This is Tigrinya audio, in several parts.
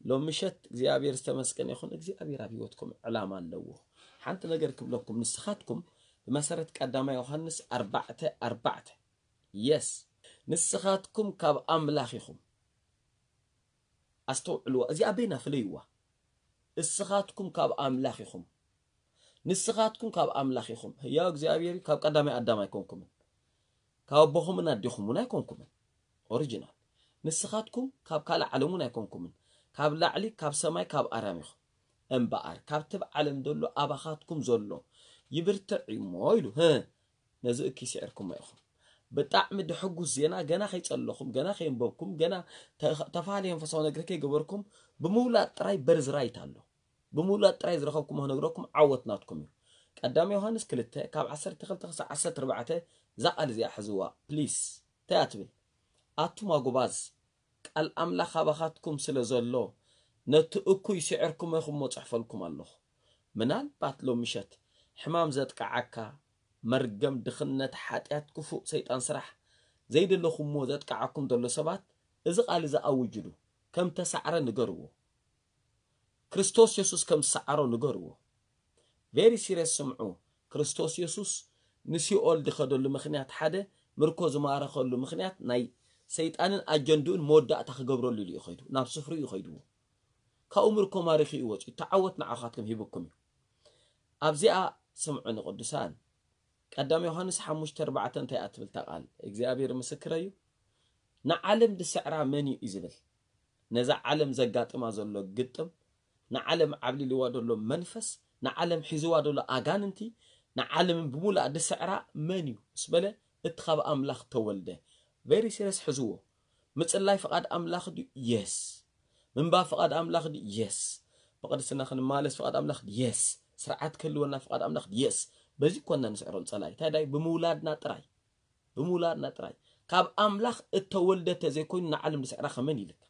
ሎም ምሸት እግዚኣብሔር ዝተመስገነ ይኹን። እግዚኣብሔር ኣብ ህይወትኩም ዕላማ ኣለዎ። ሓንቲ ነገር ክብለኩም፣ ንስኻትኩም ብመሰረት ቀዳማይ ዮሃንስ ኣርባዕተ ኣርባዕተ፣ የስ፣ ንስኻትኩም ካብ ኣምላኽ ኢኹም። ኣስተውዕልዋ፣ እዚኣ በይና ፍለይዋ። እስኻትኩም ካብ ኣምላኽ ኢኹም። ንስኻትኩም ካብ ኣምላኽ ኢኹም። ህያው እግዚኣብሔር እዩ። ካብ ቀዳማይ ኣዳም ኣይኮንኩምን። ካብ ኣቦኹምን ኣዴኹም እውን ኣይኮንኩምን። ኦሪጂናል። ንስኻትኩም ካብ ካልእ ዓለም እውን ኣይኮንኩምን። ካብ ላዕሊ፣ ካብ ሰማይ፣ ካብ ኣርያም ኢኹም። እምበኣር፣ ካብቲ ኣብ ዓለም ዘሎ ኣባኻትኩም ዘሎ ይብርትዕ እዩሞ ኢሉ። ህእ፣ ነዚ እኪ ስዒርኩሞ ኢኹም። ብጣዕሚ ድሕጉስ ዜና፣ ገና ከይጸለኹም፣ ገና ከየንበብኩም፣ ገና ተ-፣ ተፈላለየ መንፈሳዊ ነገር ከይገበርኩም፣ ብምውላድ ጥራይ በርዝ ራይት ኣሎ። ብምውላድ ጥራይ ዝረኸብኩሞ ክነግረኩም፣ ዓወት ናትኩም እዩ። ቀዳም ዮሃንስ ክልተ ካብ ዓሰርተ ክልተ ክሳብ ዓሰርተ ኣርባዕተ፣ እዛ ቃል እዚኣ ሕዝዋ ፕሊስ። እንታይ እያ ትብል? ኣቱም ኣጎባዝ፣ ቃል ኣምላኽ ኣባኻትኩም ስለ ዘሎ፣ ነቲ እኩይ ስዒርኩሞ ኢኹም እሞ ጽሕፈልኩም ኣለኹ። ምናልባት ሎም ምሸት ሕማም ዘጥቅዓካ፣ መርገም፣ ድኽነት፣ ሓጢኣት፣ ክፉእ ሰይጣን ስራሕ፣ ዘይደለኹምዎ ዘጥቅዓኩም ዘሎ ሰባት፣ እዚ ቃል እዚ ኣውጅሉ፣ ከም ተሳዕረ ንገርዎ። ክርስቶስ የሱስ ከም ዝሰዓሮ ንገርዎ። ቬሪ ሲሪየስ ስምዑ። ክርስቶስ የሱስ ንሲኦል ዝኸደሉ ምኽንያት ሓደ፣ ምርኮ ዝማረኸሉ ምኽንያት ናይ ሰይጣንን ኣጀንድኡን መወዳእታ ክገብረሉ ኢሉ እዩ ኸይዱ። ናብ ስፍርኡ እዩ ኸይድዎ። ካብኡ ምርኮ ማሪኹ እዩ ወፂኡ። ተዓወት ንዓኻትኩም ሂብኩም እዩ። ኣብዚኣ ስምዑ ንቅዱሳን። ቀዳም ዮሃንስ ሓሙሽተ ኣርባዕተ እንታይ እያ ትብል እታ ቃል? እግዚኣብሔር ምስክረ እዩ። ንዓለም ዝስዕራ መን እዩ እዩ ዝብል። ነዛ ዓለም ዘጋጥማ ዘሎ ግጥም፣ ንዓለም ዓብሊልዋ ዘሎ መንፈስ፣ ንዓለም ሒዝዋ ዘሎ ኣጋንንቲ፣ ንዓለምን ብምሉኣ ዝስዕራ መን እዩ ምስ በለ፣ እቲ ካብ ኣምላኽ ተወልደ። ቬሪ ሲሪየስ ሕዝዎ። ምጽላይ ፍቓድ ኣምላኽ ድዩ? የስ። ምንባብ ፍቓድ ኣምላኽ ድዩ? የስ። ብቕድስና ክንማለስ ፍቓድ ኣምላኽ ድዩ? የስ። ስርዓት ክህልወና ፍቓድ ኣምላኽ ድዩ? የስ። በዚ ኮና ንስዕሮም ጸላይ። እንታይ ዳይ? ብምውላድና ጥራይ። ብምውላድና ጥራይ። ካብ ኣምላኽ እተወልደ ተዘይኮይኑ ንዓለም ዝስዕራ ከመን ኢልካ?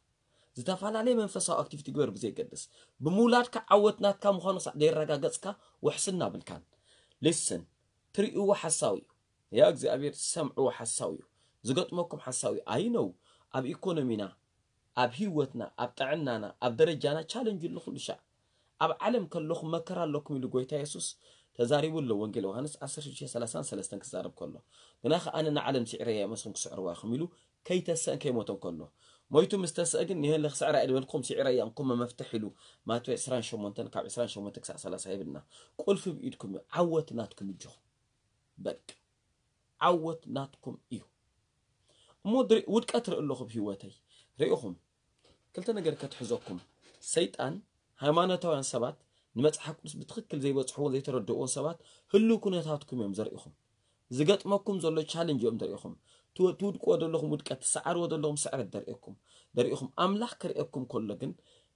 ዝተፈላለየ መንፈሳዊ ኣክቲቪቲ ግበር ብዘይገድስ። ብምውላድካ ዓወት ናትካ ምዃኑ ክሳዕ ዘየረጋገጽካ ውሕስና ብልካን። ሊስን፣ ትርእይዎ ሓሳዊ እዩ። ያ እግዚኣብሔር ሰምዕዎ ሓሳዊ እዩ። ዝገጥመኩም ሓሳዊ እዩ። ኣይ ነው ኣብ ኢኮኖሚና፣ ኣብ ህይወትና፣ ኣብ ጥዕናና፣ ኣብ ደረጃና ቻለንጅ ኣሎ ኩሉ ሻዕ። ኣብ ዓለም ከለኹም መከራ ኣለኩም ኢሉ ጎይታ የሱስ ተዛሪቡ ኣሎ። ወንጌል ዮሃንስ ዓሰርተ ሽዱሽተ ሰላሳን ሰለስተን ክዛረብ ከሎ፣ ግና ከኣ ኣነ ንዓለም ስዒረያ እየ፣ ንስኹም ክስዕርዋ ኢኹም ኢሉ ከይተሰእን ከይሞተን ከሎ፣ ሞይቱ ምስ ተሰአ ግን ንሄለ ክስዕራ እየ ዝበልኩም ስዒረያ እንኩም መፍትሕ ኢሉ ማቴዎስ ዕስራን ሸሞንተን ካብ ዕስራን ሸሞንተ ክሳዕ ሰላሳ ይብልና። ቁልፊ ብኢድኩም እዩ። ዓወት ናትኩም እጆኹም። በቃ ዓወት ናትኩም እዩ። እሞ ድሪ-፣ ውድቀት ርኢ ኣለኹ ብህይወተይ። ርኢኹም፣ ክልተ ነገር ከትሕዘኩም። ሰይጣን፣ ሃይማኖታውያን ሰባት፣ ንመጽሓፍ ቅዱስ ብትኽክል ዘይበጽሕዎን ዘይተረድእዎን ሰባት ህልው ኩነታትኩም እዮም ዘርእኹም። ዝገጥመኩም ዘሎ ቻለንጅ እዮም ዘርእኹም። ትወ-፣ ትውድቅዎ ዘለኹም ውድቀት፣ ትሰዓርዎ ዘለኹም ስዕረት ዘርእኩም፣ ዘርእኹም። ኣምላኽ ክርእየኩም ከሎ ግን፣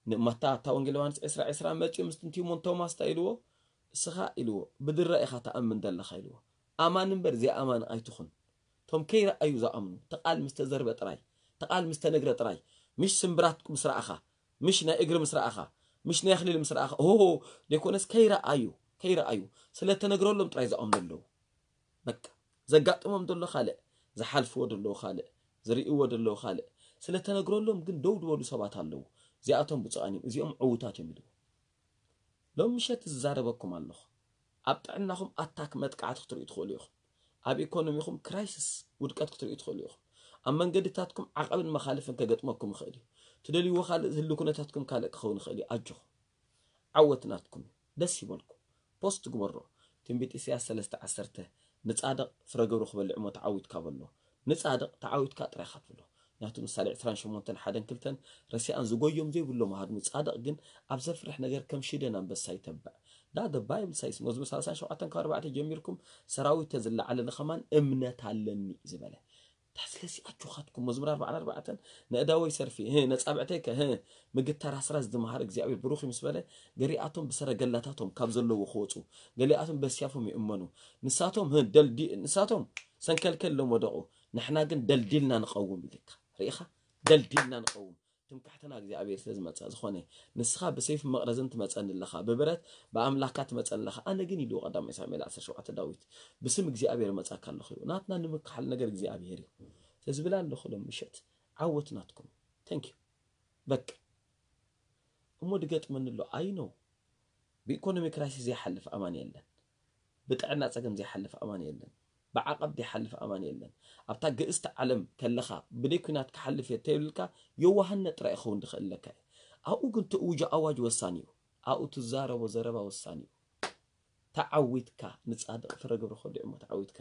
ንማታ እታ ወንጌል ዮሃንስ ዕስራ ዕስራ መጺኡ ምስ ትንቲሞን ቶማስ እንታይ ኢልዎ? እስኻ ኢልዎ፣ ብድራ ኢኻ ትኣምን ዘለኻ ኢልዎ። ኣማን እምበር ዘይኣማን ኣይትኹን። እቶም ከይረኣዩ ዝኣምኑ፣ እቲ ቃል ምስ ተዘርበ ጥራይ፣ እቲ ቃል ምስ ተነግረ ጥራይ፣ ምሽ ስምብራት ምስ ረኣኻ፣ ምሽ ናይ እግሪ ምስ ረኣኻ፣ ምሽ ናይ ኣኽሊል ምስ ረኣኻ፣ ኦሆ፣ ዘይኮነስ ከይረኣዩ፣ ከይረኣዩ፣ ስለ ተነግረሎም ጥራይ ዝኣምኑ ኣለዉ። በቃ፣ ዘጋጥሞም ዘሎ ካልእ፣ ዝሓልፍዎ ዘለዉ ካልእ፣ ዝርእይዎ ዘለዉ ካልእ፣ ስለ ተነግረሎም ግን ደው ዝበሉ ሰባት ኣለዉ። እዚኣቶም ብፁዓን እዮም፣ እዚኦም ዕዉታት እዮም ኢልዎ። ሎም ምሸት ዝዛረበኩም ኣለኹ። ኣብ ጥዕናኹም ኣታክ መጥቃዕቲ ክትርእዩ ትኽእሉ ኢኹም። ኣብ ኢኮኖሚኹም ክራይሲስ ውድቀት ክትርእዩ ትኽእሉ ኢኹም። ኣብ መንገድታትኩም ዓቐብን መኻልፍን ከገጥመኩም ይኽእል እዩ። ትደልይዎ ካልእ ዝህሉ ኩነታትኩም ካልእ ክኸውን ይኽእል እዩ። ኣጆኹም። ዓወት ናትኩም እዩ። ደስ ይበልኩም። ፖስት ግበሮ። ትንቢት ኢሳያስ ሰለስተ ዓሰርተ፣ "ንጻድቕ ፍረ ግብሩ ክበልዕ እሞ ተዓዊትካ" በሎ። ንጻድቕ ተዓዊትካ ጥራይ ኢኻ ትብሎ። ምክንያቱ ምሳሌ ዕስራን ሸሞንተን ሓደን ክልተን፣ ረሲኣን ዝጎዮም ዘይብሎም ኣሃድሙ፣ ጻድቕ ግን ኣብ ዘፍርሕ ነገር ከም ሽደን ኣንበሳ ይተብዕ። ዳ the Bible says፣ መዝሙር ሰላሳን ሸውዓተን ካብ ኣርባዕተ ጀሚርኩም፣ "ሰራዊተ ዝለዓለኒ ከማን እምነት ኣለኒ" ዝበለ። ታ ስለዚ ኣጆኻትኩም፣ መዝሙር ኣርባዓን ኣርባዕተን፣ "ንእዳወይ ሰርፊ፣ ህ፣ ነጻብዕተይ ከ፣ ህ፣ ምግተር ኣስራት ዝመሃር እግዚኣብሔር ብሩኽ እዩ" ምስ በለ፣ ገሊኣቶም ብሰረገላታቶም ካብ ዘለዎ ክወጹ፣ ገሊኣቶም በስያፎም ይእመኑ። ንሳቶም፣ ህ፣ ደልዲ-፣ ንሳቶም ሰንከልከል ኢሎም ወደቑ፣ ንሕና ግን ደልዲልና ንቐውም ኢልካ። ርኢኻ? ደልዲልና ንቐውም። ትምክሕትና እግዚኣብሔር ስለ ዝመጸ፣ ዝኾነ ንስኻ ብሰይፊ መቕረዝን ትመጸኒ ኣለኻ፣ ብብረት ብኣምላኽካ ትመጸኒ ኣለኻ። ኣነ ግን ኢልዎ ቀዳማይ ሳሙኤል ዓሰርተ ሸውዓተ ዳዊት፣ "ብስም እግዚኣብሔር እመጻካ ኣለኹ" ኢሉ። ናትና ንምክሓል ነገር እግዚኣብሔር እዩ። ስለዚ ብላ ኣለኹ ሎም ምሸት ዓወት ናትኩም። Thank you። በቃ። እሞ ድገጥመኒ ኣሎ። ኣይ ኖ። ብኢኮኖሚ ክራይሲስ ዘይሓልፍ ኣማን የለን። ብጥዕና ጸገም ዘይሓልፍ ኣማን የለን። ብዓቐብ ዘይሓልፍ ኣማን የለን። ኣብታ ግእስቲ ዓለም ከለኻ ብደይ ኲናት ክሓልፍ እየ ተይብልካ የዋህነት ጥራይ ይኸውን ድኽእለካ እዩ። ኣብኡ ግን ትእውጆ ኣዋጅ ወሳኒ እዩ። ኣብኡ ትዛረቦ ዘረባ ወሳኒ እዩ። ተዓዊትካ ንጻድቕ ፍረ ግብሪ ከዲዑ እሞ ተዓዊትካ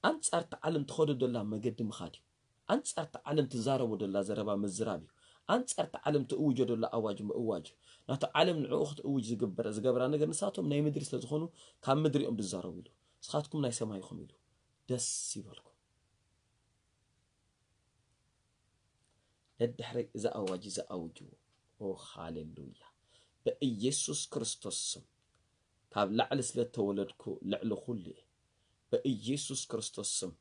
ኣንጻር እታ ዓለም ትኸዶ ደላ መገዲ ምኻድ እዩ። ኣንጻር እታ ዓለም ትዛረቦ ደላ ዘረባ ምዝራብ እዩ። ኣንጻር እታ ዓለም ትእውጆ ደላ ኣዋጅ ምእዋጅ እዩ። ናቱ ዓለም ንዕኡ ክትእውጅ ዝግበረ ዝገብራ ነገር ንሳቶም ናይ ምድሪ ስለ ዝኾኑ ካብ ምድሪ እዮም ዝዛረቡ ኢሉ። ንስኻትኩም ናይ ሰማይ ኢኹም ኢሉ። ደስ ይበልኩም። ደድሕረይ እዚ ኣዋጅ እዚ ኣውጅዎ። ኦ ሃሌሉያ። ብኢየሱስ ክርስቶስ ስም ካብ ላዕሊ ስለ ተወለድኩ ልዕሊ ኩሉ እየ። ብኢየሱስ ክርስቶስ ስም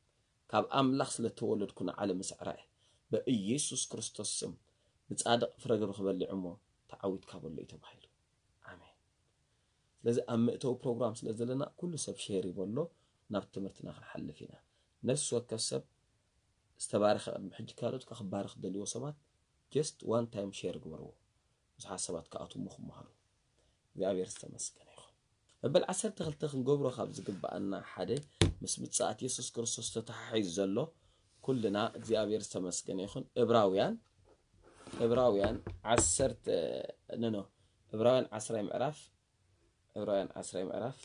ካብ ኣምላኽ ስለ ተወለድኩ ንዓለም እስዕራ እየ። ብኢየሱስ ክርስቶስ ስም ንጻድቕ ፍረ ግብሪ ክበልዕ እሞ ተዓዊትካ በሎ እዩ ተባሂሉ። ኣሜን። ስለዚ ኣብ መእተዊ ፕሮግራም ስለ ዘለና ኩሉ ሰብ ሼር ይበሎ፣ ናብ ትምህርትና ክንሓልፍ ኢና። ነፍሲ ወከፍ ሰብ ዝተባረኸ ቅድሚ ሕጂ ካልኦት ክባረኽ ደልዎ ሰባት just one time ሼር ግበርዎ። ብዙሓት ሰባት ክኣትዉ እሞ ክመሃሩ። እግዚኣብሔር ዝተመስገነ ይኹን። መበል ዓሰርተ ክልተ ክንገብሮ ካብ ዝግብኣና ሓደ ምስ ምጽኣት የሱስ ክርስቶስ ተተሓሒዙ ዘሎ ኩልና እግዚኣብሔር ዝተመስገነ ይኹን። ዕብራውያን ዕብራውያን ዓሰርተ ኖ ኖ ዕብራውያን ዓስራይ ምዕራፍ ዕብራውያን ዓስራይ ምዕራፍ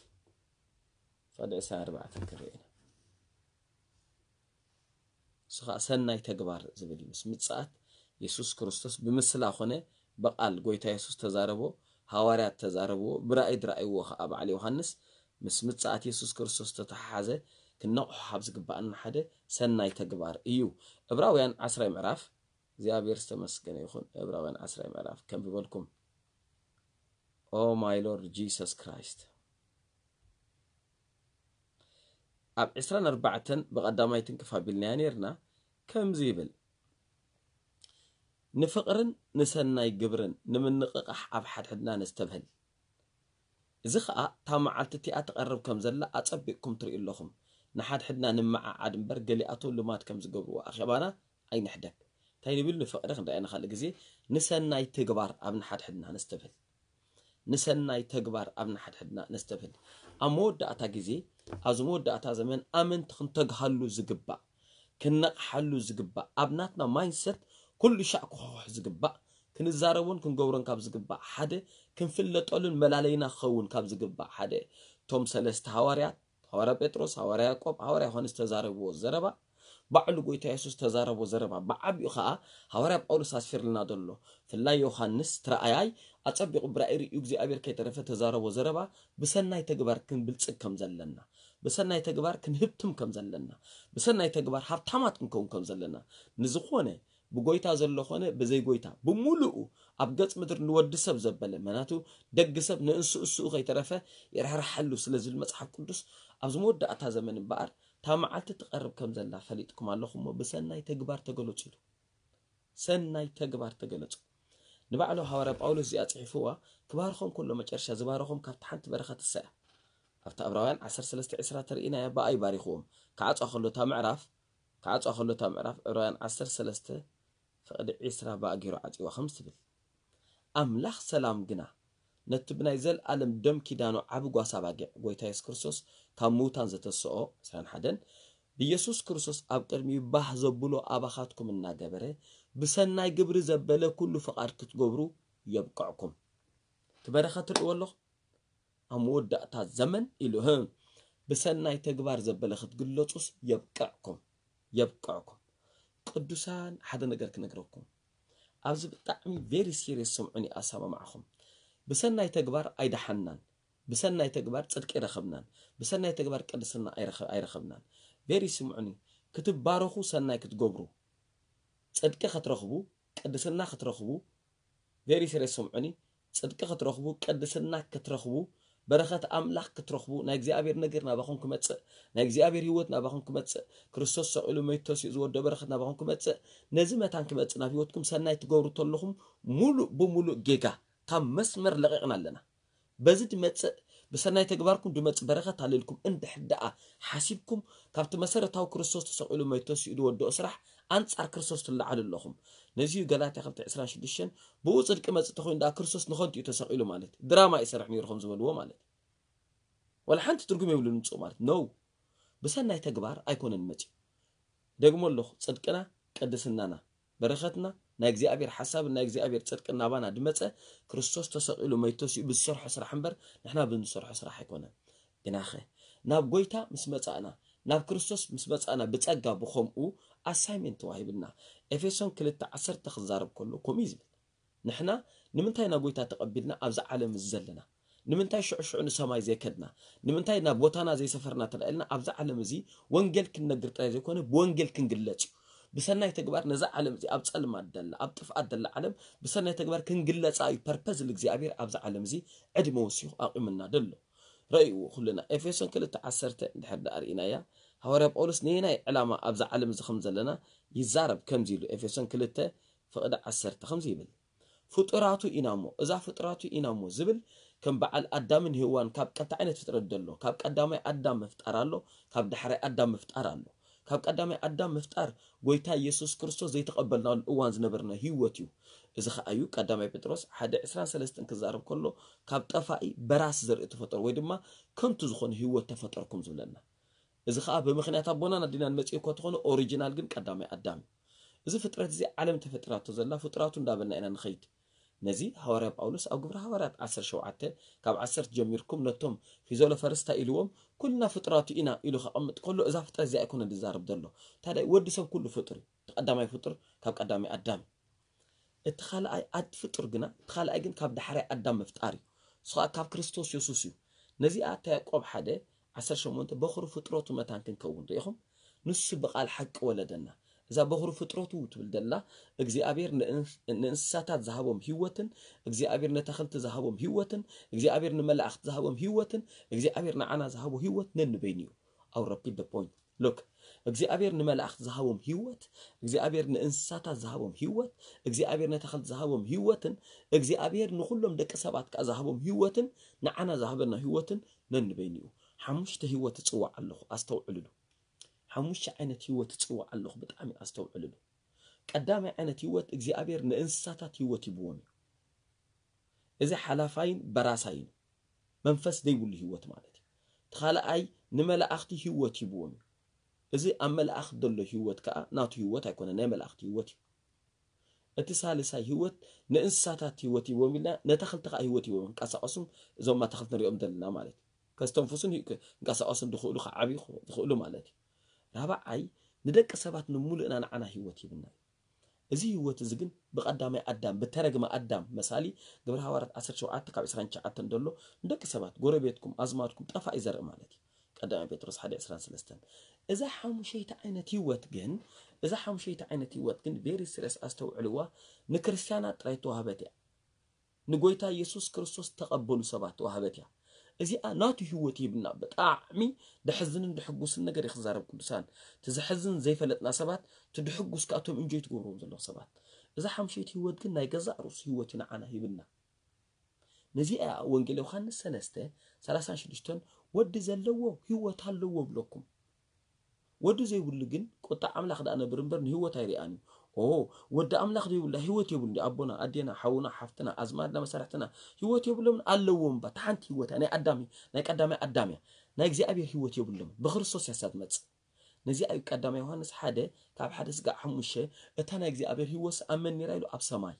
ፍቕዲ ዕስራን ኣርባዕተን ክንርኢ ኢና። እሱ ኸዓ ሰናይ ተግባር ዝብል እዩ። ምስ ምጽኣት የሱስ ክርስቶስ ብምስላ ኾነ ብቓል ጎይታ የሱስ ተዛረቦ፣ ሃዋርያት ተዛረብዎ፣ ብራእይ ዝረኣይዎ ኸዓ በዓል ዮሃንስ ምስ ምጽኣት የሱስ ክርስቶስ ተተሓሓዘ ክነቕሖ ካብ ዝግብኣና ሓደ ሰናይ ተግባር እዩ። ዕብራውያን ዓስራይ ምዕራፍ እግዚኣብሔር ዝተመስገነ ይኹን። ዕብራውያን ዓስራይ ምዕራፍ ከንብበልኩም። Oh my Lord Jesus Christ። ኣብ ዕስራን ኣርባዕተን ብቐዳማይ ትንክፍ ኣቢልናያ ነይርና። ከምዚ ይብል፣ ንፍቕርን ንሰናይ ግብርን ንምንቕቓሕ ኣብ ሓድሕድና ነስተብህል። እዚ ኸኣ እታ መዓልቲ እቲኣ ትቐርብ ከም ዘላ ኣጸቢቕኩም ትርእዩ ኣለኹም። ንሓድሕድና ንመዓዓድ እምበር ገሊኣቶም ልማድ ከም ዝገብርዎ ኣኼባና ኣይንሕደግ። እንታይ ንብል? ንፍቕሪ ክንደኣየ ንኻልእ ግዜ ንሰናይ ተግባር ኣብ ንሓድሕድና ነስተብህል። ንሰናይ ተግባር ኣብ ንሓድሕድና ነስተብህል። ኣብ መወዳእታ ግዜ፣ ኣብዚ መወዳእታ ዘመን ኣመንቲ ክንተግሃሉ ዝግባእ፣ ክንነቕሓሉ ዝግባእ፣ ኣብ ናትና ማይንሰት ኩሉ ሻዕ ክኾሕ ዝግባእ፣ ክንዛረቦን ክንገብሮን ካብ ዝግባእ ሓደ፣ ክንፍለጠሉን መላለይና ክኸውን ካብ ዝግባእ ሓደ፣ እቶም ሰለስተ ሃዋርያት፣ ሃዋርያ ጴጥሮስ፣ ሃዋርያ ያዕቆብ፣ ሃዋርያ ዮሃንስ ዝተዛረብዎ ዘረባ፣ ባዕሉ ጎይታ የሱስ ዝተዛረቦ ዘረባ፣ ብዓቢኡ ኸኣ ሃዋርያ ጳውሎስ ኣስፊርልና ዘሎ፣ ፍላይ ዮሃንስ እቲ ረኣያይ ኣጸቢቑ ብራእይ ርእዩ እግዚኣብሔር ከይተረፈ ተዛረቦ ዘረባ፣ ብሰናይ ተግባር ክንብልጽግ ከም ዘለና፣ ብሰናይ ተግባር ክንህብትም ከም ዘለና፣ ብሰናይ ተግባር ሃብታማት ክንከውን ከም ዘለና፣ ንዝኾነ ብጎይታ ዘሎ ኾነ ብዘይ ጎይታ ብምሉኡ ኣብ ገጽ ምድሪ ንወዲ ሰብ ዘበለ፣ ምኽንያቱ ደግ ሰብ ንእንስእስኡ ከይተረፈ ይርሕርሓሉ ስለ ዝብል መጽሓፍ ቅዱስ፣ ኣብዚ መወዳእታ ዘመን እምበኣር እታ መዓልቲ ትቐርብ ከም ዘላ ፈሊጥኩም ኣለኹም እሞ ብሰናይ ተግባር ተገለጹ ኢሉ። ሰናይ ተግባር ተገለጹ። ንባዕሉ ሃዋርያ ጳውሎስ እዚኣ ጽሒፍዋ ክባርኾም ከሎ መጨረሻ ዝባረኾም ካብቲ ሓንቲ በረኸት እሳ እያ። ኣብታ ዕብራውያን ዓሰርተ ሰለስተ ዕስራ ተርእይናያ ብኣይ ባሪኽዎም። ክዓጽዋ ከሎ እታ ምዕራፍ፣ ክዓጽዋ ከሎ እታ ምዕራፍ ዕብራውያን ዓሰርተ ሰለስተ ፍቕዲ ዕስራ ብኣ ገይሩ ዓጽዋ ከምዚ ትብል። ኣምላኽ ሰላም ግና ነቲ ብናይ ዘልኣለም ደም ኪዳኑ ዓቢ ጓሳ ባጊዕ ጎይታ የሱስ ክርስቶስ ካብ ምውታን ዘተስኦ ዕስራን ሓደን ብየሱስ ክርስቶስ ኣብ ቅድሚኡ ባህ ዘብሎ ኣባኻትኩም እናገበረ ብሰናይ ግብሪ ዘበለ ኩሉ ፍቓድ ክትገብሩ የብቅዕኩም። እቲ በረኸት ትርእይዎ ኣለኹም? ኣብ መወዳእታ ዘመን ኢሉ፣ ህም፣ ብሰናይ ተግባር ዘበለ ክትግለጹስ የብቅዕኩም፣ የብቅዕኩም። ቅዱሳን፣ ሓደ ነገር ክነግረኩም። ኣብዚ ብጣዕሚ ቬሪ ሲሪየስ ሰምዑኒ፣ ኣሰማምዓኹም። ብሰናይ ተግባር ኣይደሓንናን፣ ብሰናይ ተግባር ጽድቂ ኣይረኸብናን፣ ብሰናይ ተግባር ቅድስና ኣይረኸ-፣ ኣይረኸብናን። ቬሪ ስምዑኒ፣ ክትባረኹ ሰናይ ክትገብሩ፣ ጽድቂ ክትረኽቡ፣ ቅድስና ክትረኽቡ፣ ቬሪ ሲሪየስ ሰምዑኒ፣ ጽድቂ ክትረኽቡ፣ ቅድስና ክትረኽቡ፣ በረኸት ኣምላኽ ክትረኽቡ፣ ናይ እግዚኣብሔር ነገር ናባኹም ክመጽእ፣ ናይ እግዚኣብሔር ህይወት ናባኹም ክመጽእ፣ ክርስቶስ ሰቒሉ መይቱ ተሲኡ ዝወደኦ በረኸት ናባኹም ክመጽእ፣ ነዚ መታን ክመጽእ ናብ ህይወትኩም ሰናይ ትገብሩ ተለኹም፣ ሙሉእ ብሙሉእ ጌጋ ካብ መስመር ለቒቕና ኣለና። በዚ ድመጽእ፣ ብሰናይ ተግባርኩም ድመጽእ በረኸት ኣለ ኢልኩም እንድሕር ደኣ ሓሲብኩም፣ ካብቲ መሰረታዊ ክርስቶስ ተሰቒሉ መይቱ ተሲኡ ዝወደኦ ስራሕ ኣንጻር ክርስቶስ ትለዓሉ ኣለኹም። ነዚ እዩ ገላትያ ክልተ ዕስራን ሽዱሽተን፣ ብኡ ጽድቂ መጽእ ተኾይኑ ደኣ ክርስቶስ ንኸንቱ እዩ ተሰቒሉ ማለት እዩ። ድራማ እዩ ሰርሕ ነይሩ ከም ዝበልዎ ማለት እዩ። ዋላ ሓንቲ ትርጉም የብሉን ምጽኡ ማለት ነው። ብሰናይ ተግባር ኣይኮነን መጽኡ። ደግሞ ኣለኹ፣ ጽድቅና፣ ቅድስናና፣ በረኸትና፣ ናይ እግዚኣብሔር ሓሳብን ናይ እግዚኣብሔር ጽድቅን ናባና ድመጸ፣ ክርስቶስ ተሰቒሉ መይቱ ተሲኡ ብዝሰርሖ ስራሕ እምበር ንሕና ብንሰርሖ ስራሕ ኣይኮነን። ግናኸ ናብ ጎይታ ምስ መጻእና፣ ናብ ክርስቶስ ምስ መጻእና ብጸጋ ብኸምኡ ኣሳይሜንት ተዋሂብና። ኤፌሶን ክልተ ዓሰርተ ክዛረብ ከሎ ከምኡ እዩ ዝብል። ንሕና ንምንታይ ናብ ጎይታ ተቐቢልና ኣብዛ ዓለም እዚ ዘለና? ንምንታይ ሽዑ ሽዑ ንሰማይ ዘይከድና? ንምንታይ ናብ ቦታና ዘይሰፈርና ተላኢልና ኣብዛ ዓለም እዚ ወንጌል ክንነግር ጥራይ ዘይኮነ ብወንጌል ክንግለጽ እዩ። ብሰናይ ተግባር ነዛ ዓለም እዚ ኣብ ጸልማት ደላ፣ ኣብ ጥፍኣት ደላ ዓለም ብሰናይ ተግባር ክንግለጻ እዩ ፐርፐዝ እግዚኣብሔር ኣብዛ ዓለም እዚ ዕድመ ወሲኹ ኣቑምና ደሎ። ረእይዎ ኩልና ኤፌሶን ክልተ ዓሰርተ እንድሕር ደኣ ርኢናያ፣ ሃዋርያ ጳውሎስ ነየናይ ዕላማ ኣብዛ ዓለም እዚ ከም ዘለና ይዛረብ ከምዚ ኢሉ ኤፌሶን ክልተ ፍቕዲ ዓሰርተ ከምዚ ይብል። ፍጡራቱ ኢና እሞ፣ እዛ ፍጡራቱ ኢና እሞ ዝብል ከም በዓል ኣዳምን ሄዋን ካብ ቀልተ ዓይነት ፍጥረት ደሎ፣ ካብ ቀዳማይ ኣዳም ምፍጣር ኣሎ፣ ካብ ዳሕራይ ኣዳም ምፍጣር ኣሎ። ካብ ቀዳማይ ኣዳም ምፍጣር ጎይታ ኢየሱስ ክርስቶስ ዘይተቐበልናሉ እዋን ዝነበርና ህይወት እዩ። እዚ ኸኣ እዩ ቀዳማይ ጴጥሮስ ሓደ ዕስራን ሰለስተን ክዛረብ ከሎ ካብ ጠፋኢ በራስ ዘርኢ ተፈጠሩ ወይ ድማ ከንቱ ዝኾነ ህይወት ተፈጠርኩም ዝብለና። እዚ ኸኣ ብምኽንያት ኣቦናን ኣዴናን መጺኡ እኳ ተኾነ ኦሪጂናል ግን ቀዳማይ ኣዳም እዩ። እዚ ፍጥረት እዚ ዓለም ተፈጢራቶ ዘላ ፍጡራቱ እንዳበልና ኢና ንኸይድ። ነዚ ሃዋርያ ጳውሎስ ኣብ ግብሪ ሃዋርያት ዓሰርተ ሸውዓተ ካብ ዓሰርተ ጀሚርኩም ነቶም ፊዘሎፈርስታ ኢልዎም ኩልና ፍጡራቱ ኢና ኢሉ ከቐምጥ ከሎ እዛ ፍጥረት እዚኣ ኣይኮነን ዝዛረብ ዘሎ። ታዲያ ወዲ ሰብ ኩሉ ፍጡር እዩ። እቲ ቀዳማይ ፍጡር ካብ ቀዳማይ ኣዳም እዩ። እቲ ካልኣይ ኣድ ፍጡር ግና እቲ ካልኣይ ግን ካብ ዳሕራይ ኣዳም ምፍጣር እዩ። እሱ ከዓ ካብ ክርስቶስ የሱስ እዩ። ነዚኣ እታ ያዕቆብ ሓደ ዓሰርተ ሸሞንተ በኹሪ ፍጥረቱ መታን ክንከውን ርኢኹም። ንሱ ብቓል ሓቂ ወለደና። እዛ በኹሪ ፍጥረቱ ትብል ደላ እግዚኣብሔር ንእንስ- ንእንስሳታት ዝሃቦም ህይወትን እግዚኣብሔር ነተኽልቲ ዝሃቦም ህይወትን እግዚኣብሔር ንመላእኽቲ ዝሃቦም ህይወትን እግዚኣብሔር ንዓና ዝሃቦ ህይወት ነንበይኑ እዩ። I'll repeat the point. Look, እግዚኣብሔር ንመላእኽቲ ዝሃቦም ህይወት፣ እግዚኣብሔር ንእንስሳታት ዝሃቦም ህይወት፣ እግዚኣብሔር ነተኽልቲ ዝሃቦም ህይወትን እግዚኣብሔር ንኹሎም ደቂ ሰባት ከዓ ዝሃቦም ህይወትን ንዓና ዝሃበና ህይወትን ነንበይኑ እዩ። ሓሙሽተ ህይወት እፅዋዕ ኣለኹ፣ ኣስተውዕልሉ። ሓሙሽተ ዓይነት ህይወት እፅዋዕ ኣለኹ፣ ብጣዕሚ ኣስተውዕልሉ። ቀዳማይ ዓይነት ህይወት እግዚኣብሔር ንእንስሳታት ህይወት ሂብዎም እዩ። እዚ ሓላፋይን በራሳይን መንፈስ ዘይብሉ ህይወት ማለት እዩ። እቲ ካልኣይ ንመላእኽቲ ህይወት ሂብዎም እዩ። እዚ ኣብ መላእኽቲ ዘሎ ህይወት ከዓ ናቱ ህይወት ኣይኮነ፣ ናይ መላእኽቲ ህይወት እዩ። እቲ ሳልሳይ ህይወት ንእንስሳታት ህይወት ሂብዎም ኢልና ነተኽልቲ ከዓ ህይወት ሂብዎም ክንቀሳቀሱም እዞም ኣተኽልቲ ንሪኦም ዘለና ማለት እዩ። ከስተንፍሱን ሂ- ክንቀሳቀሱን ዝኽእሉ ክዓብዩ ዝኽእሉ ማለት እዩ። ራብዓይ ንደቂ ሰባት ንምሉእና ንዓና ህይወት ሂብና እዩ። እዚ ህይወት እዚ ግን ብቐዳማይ ኣዳም ብተረግመ ኣዳም መሳሊ ግብረ ሃዋርያት ዓሰርተ ሸውዓተ ካብ ዕስራን ትሽዓተን ዘሎ ንደቂ ሰባት ጎረቤትኩም ኣዝማድኩም ጠፋኢ ዘርኢ ማለት እዩ። ቀዳማይ ጴጥሮስ ሓደ ዕስራን ሰለስተን። እዛ ሓሙሸይቲ ዓይነት ህይወት ግን እዛ ሓሙሸይቲ ዓይነት ህይወት ግን ቬሪ ስሪየስ ኣስተውዕልዋ። ንክርስትያናት ጥራይ ተዋህበት እያ። ንጎይታ ኢየሱስ ክርስቶስ ተቐበሉ ሰባት ተዋህበት እያ። እዚኣ ናቱ ህይወት ይህብና። ብጣዕሚ ደሕዝንን ድሕጉስን ነገር ይኽዛረብ ቅዱሳን። እቲ ዘሕዝን ዘይፈለጥና ሰባት እቲ ድሕጉስ ከኣቶም እንጆይ ትገብርዎም ዘለኹ ሰባት። እዛ ሓምሸይቲ ህይወት ግን ናይ ገዛእ ርእሱ ህይወት እዩ ንዓና ሂብና። ነዚኣ ወንጌል ዮሃንስ ሰለስተ ሰላሳን ሽዱሽተን ወዲ ዘለዎ ህይወት ኣለዎ ብለኩም። ወዲ ዘይብሉ ግን ቁጣ ኣምላኽ ደኣ ነብር እምበር ንህይወት ኣይርኣን እዩ። ኦ ወዲ ኣምላኽ ዘይብላ ህይወት የብሉ። ኣቦና ኣዴና ሓውና ሓፍትና ኣዝማድና መሳርሕትና ህይወት የብሎም ኣለዎም። ባት ሓንቲ ህይወት ናይ ኣዳም ናይ ቀዳማይ ኣዳም እያ። ናይ እግዚኣብሔር ህይወት የብሎም። ብክርስቶስ ያሳ ትመጽእ። ነዚኣ እዩ ቀዳማይ ዮሃንስ ሓደ ካብ ሓደ ስጋዕ ሓሙሽተ እታ ናይ እግዚኣብሔር ህይወት ኣብ መን ነይራ ኢሉ ኣብ ሰማይ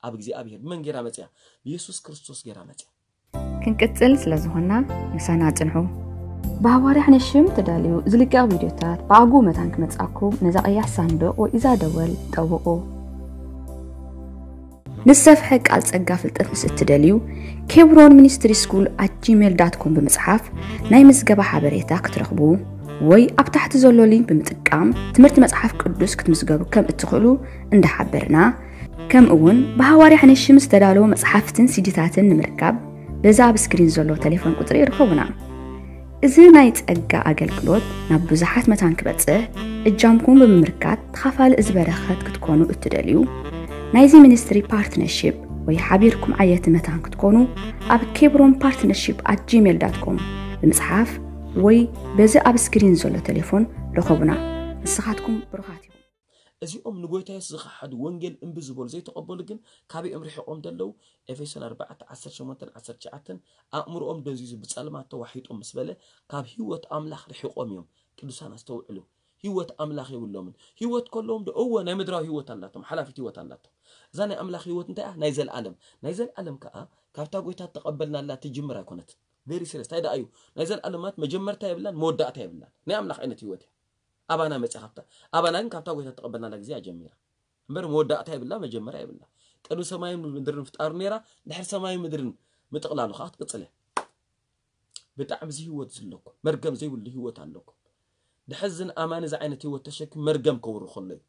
ኣብ እግዚኣብሔር ብመን ገይራ መጽያ? ብየሱስ ክርስቶስ ገይራ መጽያ። ክንቅጽል ስለ ዝኾንና ምሳና ጽንሑ። ብሃዋርያ ሕነ ሽም ተዳልዩ ዝልቀቕ ቪድዮታት ብኣግኡ መታን ክመጽኣኩም ነዛ ቀያሕ ሳንዱቕ ወይ እዛ ደወል ጠውቑ። ንሰፍሐ ቃል ጸጋ ፍልጠት ምስ እትደልዩ ኬብሮን ሚኒስትሪ ስኩል ኣት ጂሜል ዳት ኮም ብምጽሓፍ ናይ ምዝገባ ሓበሬታ ክትረኽቡ ወይ ኣብ ታሕቲ ዘሎ ሊንክ ብምጥቃም ትምህርቲ መጽሓፍ ቅዱስ ክትምዝገቡ ከም እትኽእሉ እንዳሓበርና ከምኡ እውን ብሃዋርያ ሕነ ሽም ዝተዳለወ መጽሓፍትን ሲዲታትን ንምርካብ በዚ ኣብ ስክሪን ዘሎ ቴሌፎን ቁጽሪ ይርከቡና። እዚ ናይ ጸጋ ኣገልግሎት ናብ ብዙሓት መታን ክበጽሕ እጃምኩም ብምምርካት ተኻፋሊ እዚ በረኸት ክትኮኑ እትደልዩ ናይዚ ሚኒስትሪ ፓርትነርሺፕ ወይ ሓቢርኩም ዓየቲ መታን ክትኮኑ ኣብ ኬብሮን ፓርትነርሺፕ ኣት ጂሜል ዳት ኮም ብምጽሓፍ ወይ በዚ ኣብ ስክሪን ዘሎ ቴሌፎን ርኸቡና። ንስኻትኩም ብሩኻት ኢኹም። እዚኦም ንጎይታ የሱስ ዝኸሓዱ፣ ወንጌል እምቢ ዝበሉ፣ ዘይተቐበሉ ግን ካበይ እዮም ርሒቖም ዘለዉ? ኤፌሶን ኣርባዕተ ዓሰርተ ሸሞንተን ዓሰርተ ትሽዓተን፣ ኣእምሮኦም ደንዚዙ ብጸልማት ተዋሒጦም ምስ በለ፣ ካብ ህይወት ኣምላኽ ርሒቖም እዮም። ቅዱሳን ኣስተውዕሉ። ህይወት ኣምላኽ የብሎምን። ህይወት ከለዎም ዶ? እወ፣ ናይ ምድራዊ ህይወት ኣላቶም፣ ሓላፊት ህይወት ኣላቶም። እዛ ናይ ኣምላኽ ህይወት እንታይ እያ? ናይ ዘለኣለም። ናይ ዘለኣለም ከኣ ካብታ ጎይታ ተቐበልናላ ትጅምር ኣይኮነትን። ቨሪ ሲሪየስ። እንታይ ደኣ እዩ? ናይ ዘለኣለም ማለት መጀመርታ የብላን፣ መወዳእታ የብላን። ናይ ኣምላኽ ዓይነት ህይወት እያ። ኣባና መጽያ ካብታ፣ ኣባና ግን ካብታ ጎይታ ተቐበልናላ ግዜ እያ ጀሚራ። እምበር መወዳእታ የብላ፣ መጀመርያ የብላ። ቅድሚ ሰማይን ምድርን ምፍጣሩ ነይራ፣ ድሕሪ ሰማይን ምድርን ምጥቕላሉ ከኣ ትቅጽል እያ። ብጣዕሚ እዚ ህይወት ዘለኩም፣ መርገም ዘይብሉ ህይወት ኣለኩም። ድሕዝን ኣማኒ እዚ ዓይነት ህይወት ተሸኪሙ መርገም ከውሪ ከሎ እዩ።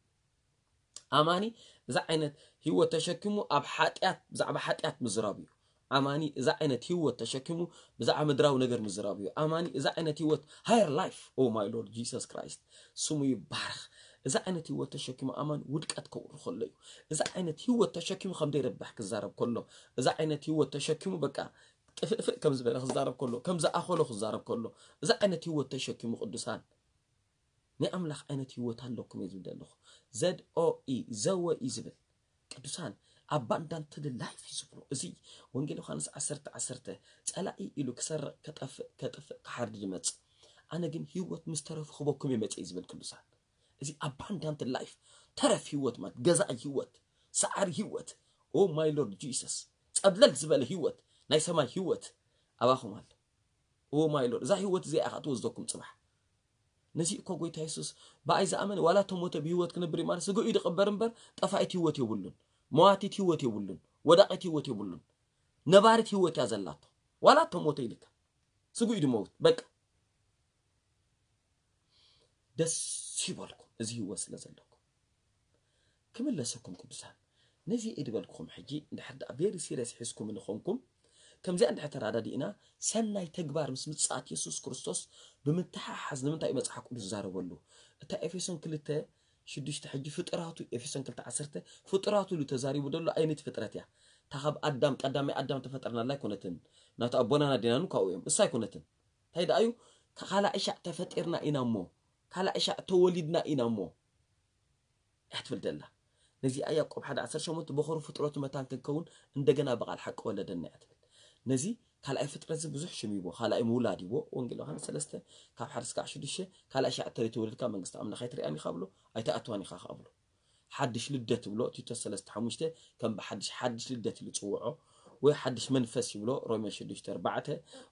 ኣማኒ እዚ ዓይነት ህይወት ተሸኪሙ ኣብ ሓጢኣት፣ ብዛዕባ ሓጢኣት ምዝራብ እዩ። ኣማኒ እዚ ዓይነት ህይወት ተሸኪሙ ብዛዕባ ምድራዊ ነገር ምዝራብ እዩ። ኣማኒ እዚ ዓይነት ህይወት፣ higher life, oh my Lord Jesus Christ፣ ስሙ ይባረኽ። እዚ ዓይነት ህይወት ተሸኪሙ ኣማኒ ውድቀት ከውሪ ከሎ እዩ። እዚ ዓይነት ህይወት ተሸኪሙ ከም ዘይረብሕ ክዛረብ ከሎ፣ እዚ ዓይነት ህይወት ተሸኪሙ በቃ ጥፍእፍእ ከም ዝበለ ክዛረብ ከሎ፣ ከም ዝኣኸሎ ክዛረብ ከሎ፣ እዚ ዓይነት ህይወት ተሸኪሙ ቅዱሳን ናይ ኣምላኽ ዓይነት ህይወት ኣለኩም እየ ዝብል ዘለኹ። ዘድ ኦ ኢ፣ ዘወ ኢ ዝብል ቅዱሳን፣ abundant life እዩ ዝብሎ። እዚ ወንጌል ዮሃንስ ዓሰርተ ዓሰርተ፣ ጸላኢ ኢሉ ክሰርቕ፣ ከጠፍእ፣ ከጥፍእ፣ ክሓርድ ዝመጽእ፣ ኣነ ግን ህይወት ምስ ተረፉ ክበኩም እየ መጽእ እዩ ዝብል ቅዱሳን። እዚ abundant life፣ ተረፍ ህይወት ማለት ገዛኢ ህይወት፣ ሰዓሪ ህይወት፣ oh my Lord Jesus፣ ጸብለል ዝበለ ህይወት፣ ናይ ሰማይ ህይወት ኣባኹም ኣሎ። Oh my Lord፣ እዛ ህይወት እዚኣ ኢኻ ትወስደኩም ጽባሕ። ነዚ እኮ ጎይታ የሱስ፣ "ብኣይ ዝኣመነ ዋላ ተሞተ ብህይወት ክነብር እዩ" ማለት፣ ስግኡ እዩ ዝቕበር እምበር፣ ጠፋኢት ህይወት የብሉን፣ መዋቲት ህይወት የብሉን፣ ወዳቂት ህይወት የብሉን። ነባሪት ህይወት እያ ዘላቶ። ዋላ ተሞተ ኢልካ፣ ስግኡ እዩ ዝመውት። በቃ። ደስ ይበልኩም፣ እዚ ህይወት ስለ ዘለኩም። ክምለሰኩም ቅዱሳን፣ ነዚ እየ ዝበልኩኹም። ሕጂ እንድሕር ደኣ ቨሪ ሲሪየስ ሒዝኩም ንኾንኩም፣ ከምዚኣ እንድሕር ተራዳዲእና፣ ሰናይ ተግባር ምስ ምጽኣት የሱስ ክርስቶስ ብምትሓሓዝ ንምንታይ እዩ መጽሓፍ ቅዱስ ዝዛረበሉ? እታ ኤፌሶን ክልተ ሽዱሽተ፣ ሕጂ ፍጡራቱ፣ ኤፌሶን ክልተ ዓሰርተ፣ ፍጡራቱ ኢሉ ተዛሪቡ ዘሎ ኣይነቲ ፍጥረት እያ? እታ ካብ ኣዳም፣ ቀዳማይ ኣዳም ተፈጠርናላ ኣይኮነትን። ናቱ ኣቦናን ኣዴናን ካብኡ እዮም። እሳ ኣይኮነትን። እንታይ ደኣ እዩ? ካልኣይ ሻዕ ተፈጢርና ኢና እሞ፣ ካልኣይ ሻዕ ተወሊድና ኢና እሞ እያ ትብል ዘላ። ነዚኣ ያዕቆብ ሓደ ዓሰርተ ሸሞንተ፣ "በኹሪ ፍጥረቱ መታን ክንከውን እንደገና ብቓል ሓቂ ወለደና" እያ ትብል። ነዚ ካልኣይ ፍጥረት እዚ ብዙሕ ሽም ይቦ፣ ካልኣይ ምውላድ ይቦ። ወንጌል ዮሃንስ ሰለስተ ካብ ሓደ ስጋዕ ሽዱሽተ፣ "ካልኣይ ሻዕ ተዘይተወሊድካ መንግስቲ ኣምላኽ ኣይትሪኣን ኢኻ" ብሎ፣ "ኣይትኣትዋን ኢኻ" ከኣ ብሎ። ሓድሽ ልደት ብሎ፣ ቲቶስ ሰለስተ ሓሙሽተ፣ ከም ብሓድሽ፣ ሓድሽ ልደት ኢሉ ጽውዖ፣ ወይ ሓድሽ መንፈስ ይብሎ፣ ሮሜ ሽዱሽተ ኣርባዕተ፣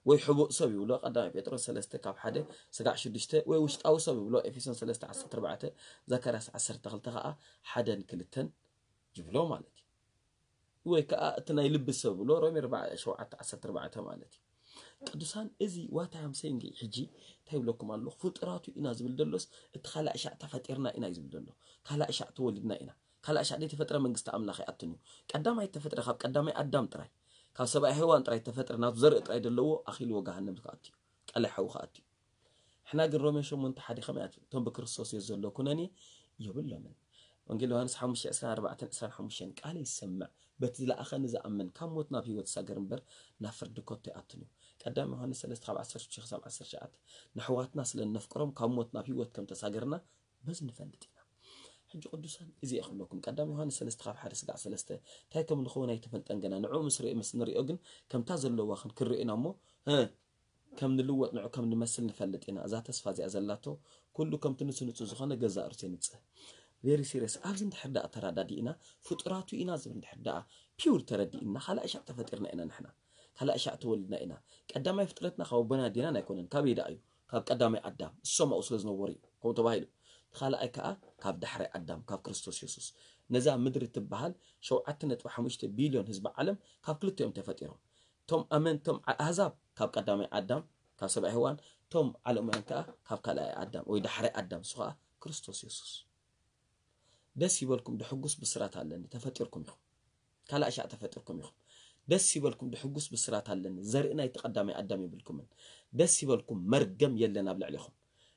ወይ ሕቡእ ሰብ ይብሎ፣ ቀዳማይ ጴጥሮስ ሰለስተ ካብ ሓደ ስጋዕ ሽዱሽተ፣ ወይ ውሽጣዊ ሰብ ይብሎ፣ ኤፌሶን ሰለስተ ዓሰርተ ኣርባዕተ፣ ዘካርያስ ዓሰርተ ክልተ ከኣ ሓደን ክልተን ይብሎ ማለት እዩ። ወይ ከኣ እቲ ናይ ልቢ ሰብ ይብሎ፣ ሮሜ ኣርባዕተ፣ ሸውዓተ ዓሰርተ ኣርባዕተ ማለት እዩ። ቅዱሳን፣ እዚ what I am saying ሕጂ እንታይ ይብለኩም ኣለኹ? ፍጡራቱ ኢና ዝብል ዘሎስ፣ እቲ ካልኣይ ሻዕ ተፈጢርና ኢና እዩ ዝብል ዘሎ። ካልኣይ ሻዕ ተወሊድና ኢና። ካልኣይ ሻዕ ዘይተፈጥረ መንግስቲ ኣምላኽ ኣይኣቱን እዩ። ቀዳማይ ተፈጥረ ካብ ቀዳማይ ኣዳም ጥራይ፣ ካብ ሰብኣይ ሄዋን ጥራይ ተፈጥረ፣ ናቱ ዘርኢ ጥራይ ዘለዎ ኣኺልዎ ገሃነም ክኣቱ እዩ። ቀላይ ሓዊ ክኣቱ እዩ። ሕና ግን ሮሜ ሸሞንተ ሓደ ከመይ ኣትብል? "እቶም ብክርስቶስ የዘሎ ኩነኔ የብሎምን።" ወንጌል ዮሃንስ ሓሙሽተ ዕስራን ኣርባዕተን ዕስራን ሓሙሽተን፣ "ቃለይ ዝሰምዕ፣ በቲ ዝለኣኸኒ ዝኣምን፣ ካብ ሞት ናብ ህይወት ይሳገር እምበር፣ ናብ ፍርዲ ከቶ ኣይኣቱን እዩ።" ቀዳም ዮሃንስ ሰለስተ ካብ ዓሰርተ ሽዱሽተ ክሳብ ዓሰርተ ትሽዓተ፣ "ንኣሕዋትና ስለ እነፍቅሮም፣ ካብ ሞት ናብ ህይወት ከም ተሳገርና በዚ ንፈልጥ ኢና።" ሕጂ ቅዱሳን፣ እዚ እየ ክብለኩም፣ ቀዳም ዮሃንስ ሰለስተ ካብ ሓደ ስጋዕ ሰለስተ፣ እንታይ ከም ንኸውን ኣይተፈልጠን ገና፣ ንዕኡ ምስ ርእ-፣ ምስ ንሪኦ ግን ከምታ ዘለዋ ክንክንሪኦ ኢና እሞ፣ እ፣ ከም ንልወጥ ንዑ ከም ንመስል ንፈልጥ ኢና። እዛ ተስፋ እዚኣ ዘላቶ ኩሉ ከምቲ ንሱ ንጹህ ዝኾነ ገዛእ ርእሱ የንጽህ። ቬሪ ሲሪየስ። ኣብዚ እንድሕር ደኣ ተረዳዲእና፣ ፍጡራቱ ኢና ዝብል እንድሕር ደኣ ፒውር ተረዲእና፣ ካልኣይ ሻዕ ተፈጢርና ኢና ንሕና። ካልኣይ ሻዕ ተወሊድና ኢና። ቀዳማይ ፍጥረትና ካብ ኣቦና ኣዴናን ኣይኮነን። ካበይ ደኣ እዩ? ካብ ቀዳማይ ኣዳም። እሶም ኣብኡ ስለ ዝነበሩ እዩ ከምኡ ተባሂሉ። ካልኣይ ከኣ ካብ ዳሕራይ ኣዳም፣ ካብ ክርስቶስ የሱስ። ነዛ ምድሪ እትበሃል ሸውዓተ ነጥቢ ሓሙሽተ ቢልዮን ህዝቢ ዓለም ካብ ክልቲኦም ተፈጢሮም። እቶም ኣመንቶም ዓ-፣ ኣህዛብ ካብ ቀዳማይ ኣዳም፣ ካብ ሰብኣይ ሄዋን፣ እቶም ዓለማውያን ከኣ ካብ ካልኣይ ኣዳም ወይ ዳሕራይ ኣዳም፣ ንሱ ከኣ ክርስቶስ የሱስ። ደስ ይበልኩም፣ ድሕጉስ ብስራት ኣለኒ፣ ተፈጢርኩም ኢኹም። ካልኣይ ሻዕ ተፈጢርኩም ኢኹም። ደስ ይበልኩም፣ ድሕጉስ ብስራት ኣለኒ፣ ዘርኢ ናይቲ ቀዳማይ ኣዳም የብልኩምን። ደስ ይበልኩም፣ መርገም የለን ኣብ ልዕሌኹም።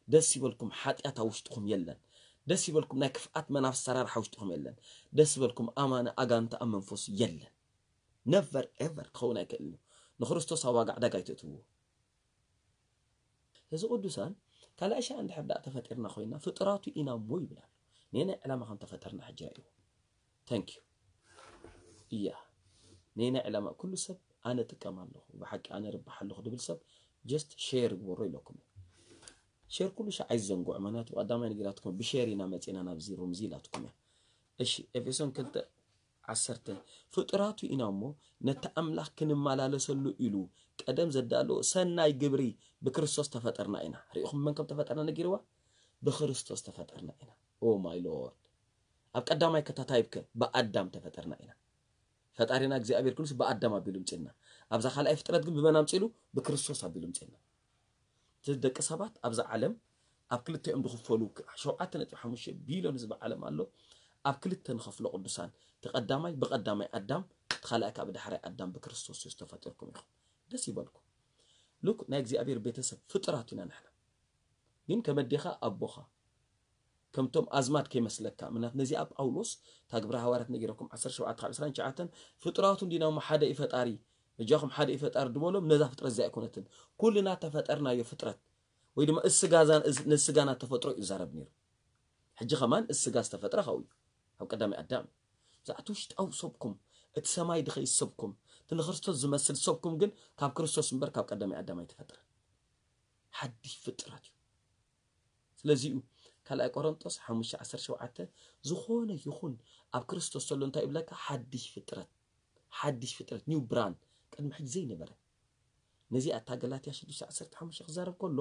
ደስ ይበልኩም፣ ሓጢኣት ኣብ ውሽጥኹም የለን። ደስ ይበልኩም፣ ናይ ክፍኣት መናፍስቲ ኣሰራርሓ ኣብ ውሽጥኹም የለን። ደስ ይበልኩም፣ ኣማኒ ኣጋንንቲ ኣብ መንፈሱ የለን። ነቨር ኤቨር ክኸውን ኣይክእልን እዩ። ንክርስቶስ ኣብ ዋጋ ዕዳጋ ኣይትእትውዎ። እዚ ቅዱሳን፣ ካልኣይ ሻዕ እንድሕር ደኣ ተፈጢርና ኮይና፣ ፍጡራቱ ኢና እሞ ይብል ኣሎ። ነየናይ ዕላማ ከም ተፈጠርና ሕጂ ርእይዎ። Thank you። እያ፣ ነየናይ ዕላማ? ኩሉ ሰብ ኣነ ጥቀም ኣለኹ፣ ብሓቂ ኣነ ርባሕ ኣለኹ ድብል ሰብ just share ግበሮ ኢለኩም። Share ኩሉ ሻዕ ኣይዘንግዑ፣ ምክንያቱ ብቐዳማይ ነጊራትኩም ብሼር ኢና መፂና ናብዚ ሩም እዚ ኢላትኩም እያ። እሺ፣ ኤፌሶን ክልተ ዓሰርተ፣ ፍጡራቱ ኢና እሞ ነቲ ኣምላኽ ክንመላለሰሉ ኢሉ ቀደም ዘዳለዎ ሰናይ ግብሪ ብክርስቶስ ተፈጠርና ኢና። ርኢኹም መን ከም ተፈጠርና ነጊርዋ? ብክርስቶስ ተፈጠርና ኢና። Oh my Lord። ኣብ ቀዳማይ ከታታይብከ ብኣዳም ተፈጠርና ኢና። ፈጣሪና እግዚኣብሔር ኩሉስ ብኣዳም ኣቢሉ ምፅልና። ኣብዛ ካልኣይ ፍጥረት ግን ብመን ኣምፂሉ? ብክርስቶስ ኣቢሉ ምፅልና። እቲ ደቂ ሰባት ኣብዛ ዓለም ኣብ ክልተ እዮም ዝኽፈሉ። ሸውዓተ ነጥቢ ሓሙሽተ ቢልዮን ህዝቢ ዓለም ኣሎ። ኣብ ክልተ ንኸፍሎ ቅዱሳን፣ እቲ ቀዳማይ ብቀዳማይ ኣዳም፣ እቲ ካልኣይ ካብ ዳሕራይ ኣዳም ብክርስቶስ ኢየሱስ ተፈጢርኩም ኢኹም። ደስ ይበልኩም። ሉክ ናይ እግዚኣብሔር ቤተሰብ ፍጡራት ኢና ንሕና። ግን ከመዴኻ ኣቦኻ ከምቶም ኣዝማድ ከይመስለካ። ምክንያቱ ነዚኣ ጳውሎስ እታ ግብረ ሃዋርያት ነጊረኩም ዓሰርተ ሸውዓተ ካብ ዕስራን ትሽዓተን ፍጡራቱ እንዲና እሞ ሓደ እዩ ፈጣሪ፣ እጃኹም ሓደ እዩ ፈጣሪ ዝበሎም ነዛ ፍጥረት እዚኣ ኣይኮነትን። ኩልና ተፈጠርናዮ ፍጥረት ወይ ድማ እስጋዛን እዝ- ንስጋና ተፈጥሮ እዩ ዛረብ ነይሩ። ሕጂ ከማን እስጋ ዝተፈጥረ ካብኡ እዩ፣ ካብ ቀዳማይ ኣዳም። ብዛዕቲ ውሽጣዊ ሰብኩም፣ እቲ ሰማይ ድኸይ ሰብኩም፣ እቲ ንክርስቶስ ዝመስል ሰብኩም ግን ካብ ክርስቶስ እምበር ካብ ቀዳማይ ኣዳም ኣይተፈጥረን። ሓድሽ ፍጥረት እዩ። ስለዚኡ ካልኣይ ቆሮንጦስ ሓሙሽተ ዓሰርተ ሸውዓተ ዝኾነ ይኹን ኣብ ክርስቶስ ዘሎ እንታይ ይብለካ? ሓድሽ ፍጥረት፣ ሓድሽ ፍጥረት፣ ኒው ብራን፣ ቅድሚ ሕጂ ዘይነበረ። ነዚ ኣታ ገላትያ ሽዱሽተ ዓሰርተ ሓሙሽተ ክዛረብ ከሎ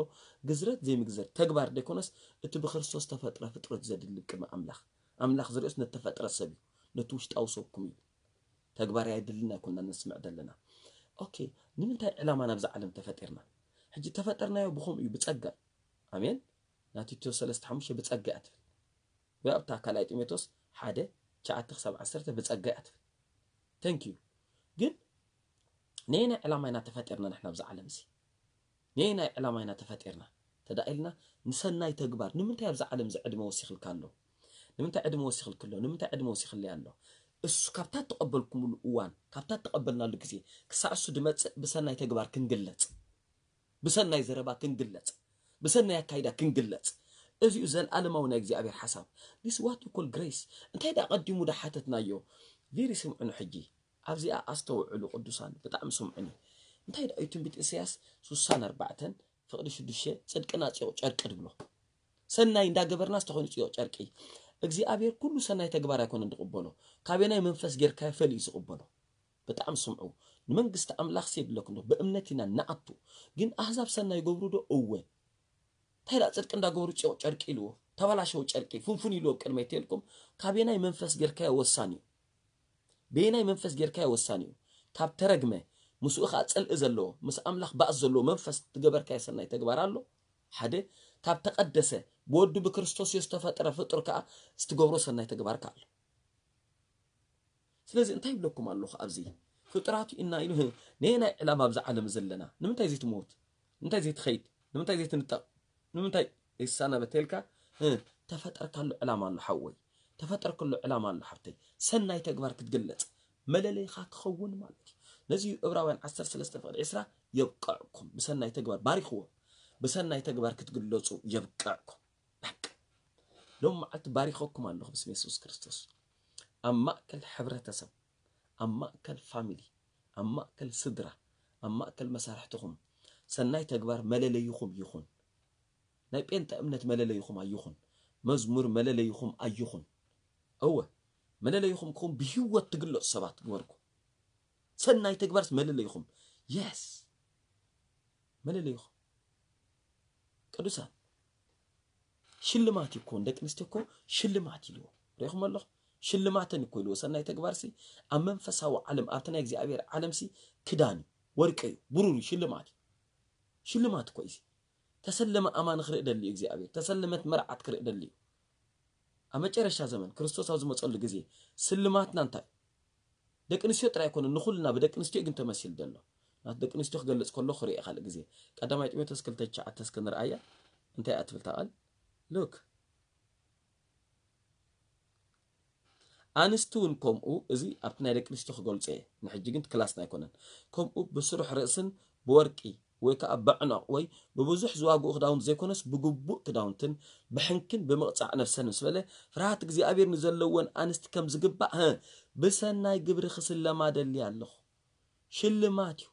ግዝረት ዘይምግዘር ተግባር ደይኮነስ እቲ ብክርስቶስ ተፈጥረ ፍጥረት ዘድሊ ቅድሚ ኣምላኽ። ኣምላኽ ዝርእስ ነተፈጥረ ሰብ እዩ፣ ነቲ ውሽጣዊ ሰብኩም እዩ። ተግባር ኣይድልና ኣይኮንና ነስምዕ ዘለና። ኦኬ፣ ንምንታይ ዕላማ ናብዛ ዓለም ተፈጢርና? ሕጂ ተፈጠርናዮ ብኸምኡ እዩ፣ ብጸጋ እዩ። ኣሜን። ናቲ ቲቶ ሰለስተ ሓሙሽተ ብጸጋ እያ ትብል። ወይ ኣብታ ካልኣይ ጢሞቴዎስ ሓደ ትሽዓተ ክሳብ ዓሰርተ ብጸጋ እያ ትብል። Thank you። ግን ነየናይ ዕላማ ኢና ተፈጢርና ንሕና ኣብዚ ዓለም እዚ? ነየናይ ዕላማ ኢና ተፈጢርና? ተዳኢልና ንሰናይ ተግባር። ንምንታይ ኣብዚ ዓለም እዚ ዕድመ ወሲኽልካ ኣሎ? ንምንታይ ዕድመ ወሲኽልክ ኣሎ? ንምንታይ ዕድመ ወሲኽለይ ኣሎ? እሱ ካብታ እተቐበልኩምሉ እዋን፣ ካብታ እተቐበልናሉ ግዜ ክሳዕ እሱ ድመጽእ ብሰናይ ተግባር ክንግለጽ፣ ብሰናይ ዘረባ ክንግለጽ፣ ብሰናይ ኣካይዳ ክንግለጽ። እዚኡ ዘለኣለማዊ ናይ እግዚኣብሔር ሓሳብ። This what you call grace። እንታይ ደኣ ቀዲሙ ዳ ሓተትናዮ? ቪሪ ስምዑኒ ሕጂ። ኣብዚኣ ኣስተውዕሉ ቅዱሳን፣ ብጣዕሚ ስምዑኒ። እንታይ ደኣ እዩ ትንቢት ኢሳያስ ሱሳን ኣርባዕተን ፍቕዲ ሽዱሽተ ጽድቅና ጽዮቕ ጨርቂ ድብሎ። ሰናይ እንዳገበርና ዝተኾይኑ ጽዮቕ ጨርቂ። እግዚኣብሔር ኩሉ ሰናይ ተግባር ኣይኮነን ዝቕበሎ። ካበናይ መንፈስ ጌርካዮ ፈልዩ ዝቕበሎ። ብጣዕሚ ስምዑ። ንመንግስቲ ኣምላኽ ሲ ይብለኩም ዶ? ብእምነት ኢና ንኣቱ። ግን ኣህዛብ ሰናይ ይገብሩ ዶ? እወ። እንታይ ደኣ ጽድቂ እንዳገበሩ ጽዮቕ ጨርቂ ኢልዎ፣ ተበላሸው ጨርቂ ፍንፉን ኢልዎ ቅድመይ ተልኩም። ካበየናይ መንፈስ ጌርካዮ ወሳኒ እዩ። በየናይ መንፈስ ጌርካዮ ወሳኒ እዩ። ካብ ተረግመ፣ ምስኡ ኸዓ ጽልኢ ዘለዎ፣ ምስ ኣምላኽ ባእስ ዘለዎ መንፈስ ትገበርካዮ ሰናይ ተግባር ኣሎ። ሓደ፣ ካብ ተቐደሰ፣ ብወዱ ብክርስቶስ ኢየሱስ ዝተፈጠረ ፍጡር ከኣ ዝትገብሮ ሰናይ ተግባር ከኣ ኣሎ። ስለዚ እንታይ ይብለኩም ኣለኹ ኣብዚ? ፍጡራቱ ኢና ኢሉ፣ ህ፣ ነየናይ ዕላማ ኣብዚ ዓለም ዘለና? ንምንታይ ዘይትሞት? ንምንታይ ዘይትኸይድ? ንምንታይ ዘይትንጠቕ? ንምንታይ ዘይትሳናበት ተልካ? ህ፣ ተፈጠርካሉ ዕላማ ኣሎ ሓወይ። ተፈጠርካሉ ዕላማ ኣሎ ሓብተይ። ሰናይ ተግባር ክትግለጽ፣ መለለይኻ ክኸውን ማለት እዩ። ነዚ እዩ ዕብራውያን ዓሰርተ ሰለስተ ፍቕዲ ዕስራ፣ የብቅዕኩም። ብሰናይ ተግባር ባሪኽዎ። ብሰናይ ተግባር ክትግለጹ የብቅዕኩም። በቃ። ሎም መዓልቲ ባሪኸኩም ኣለኹ ብስም የሱስ ክርስቶስ። ኣብ ማእከል ሕብረተሰብ፣ ኣብ ማእከል ፋሚሊ፣ ኣብ ማእከል ስድራ፣ ኣብ ማእከል መሳርሕትኹም፣ ሰናይ ተግባር መለለይኹም ይኹን። ናይ ጴንጠ እምነት መለለይኹም ኣይኹን። መዝሙር መለለይኹም ኣይኹን። እወ፣ መለለይኹም ክኹን ብህይወት ትግለጹ ሰባት ግበርኩ። ሰናይ ተግባርስ መለለይኹም። የስ። መለለይኹም። ቅዱሳን። ሽልማት እዩ እኮ፣ ንደቂ ኣንስትዮ እኮ ሽልማት ኢልዎ። ርኢኹም ኣለኹም? ሽልማተን እኮ ኢልዎ። ሰናይ ተግባርሲ ኣብ መንፈሳዊ ዓለም፣ ኣብቲ ናይ እግዚኣብሔር ዓለምሲ ክዳን እዩ፣ ወርቂ እዩ፣ ብሩር እዩ፣ ሽልማት እዩ። ሽልማት እኮ እዩ። ተሰለመ ኣማኒ ክርኢ ደሊ እዩ እግዚኣብሔር። ተሰለመት መርዓት ክርኢ ደሊ እዩ። ኣብ መጨረሻ ዘመን ክርስቶስ ኣብ ዝመጸሉ ግዜ ስልማትና እንታይ? ደቂ ኣንስትዮ ጥራይ ኣይኮነን፣ ንኹልና ብደቂ ኣንስትዮ ግን ተመሲሉ ዘሎ። ናት ደቂ ኣንስትዮ ክገልጽ ከሎ ክርኢ ካልእ ግዜ። ቀዳማይ ጢሞቴዎስ ክልተ ትሽዓተ እስከ ንርኣያ። እንታይ እያ ትብል እታ ቃል? ሉክ። ኣንስቲ እውን ከምኡ፣ እዚ ኣብቲ ናይ ደቂ ኣንስትዮ ክገልጾ እየ። ንሕጂ ግን ክላስና ኣይኮነን። ከምኡ ብስሩሕ ርእስን ብወርቂ ወይ ከዓ በዕኖቕ ወይ ብብዙሕ ዝዋግኡ ክዳውንቲ ዘይኮነስ ብግቡእ ክዳውንትን ብሕንክን ብምቕጻዕ ነፍሰን ምስ በለ ፍርሃት እግዚኣብሔር ንዘለወን ኣንስቲ ከም ዝግባእ እ፣ ብሰናይ ግብሪ ክስለማ ደሊ ኣለኹ። ሽልማት እዩ።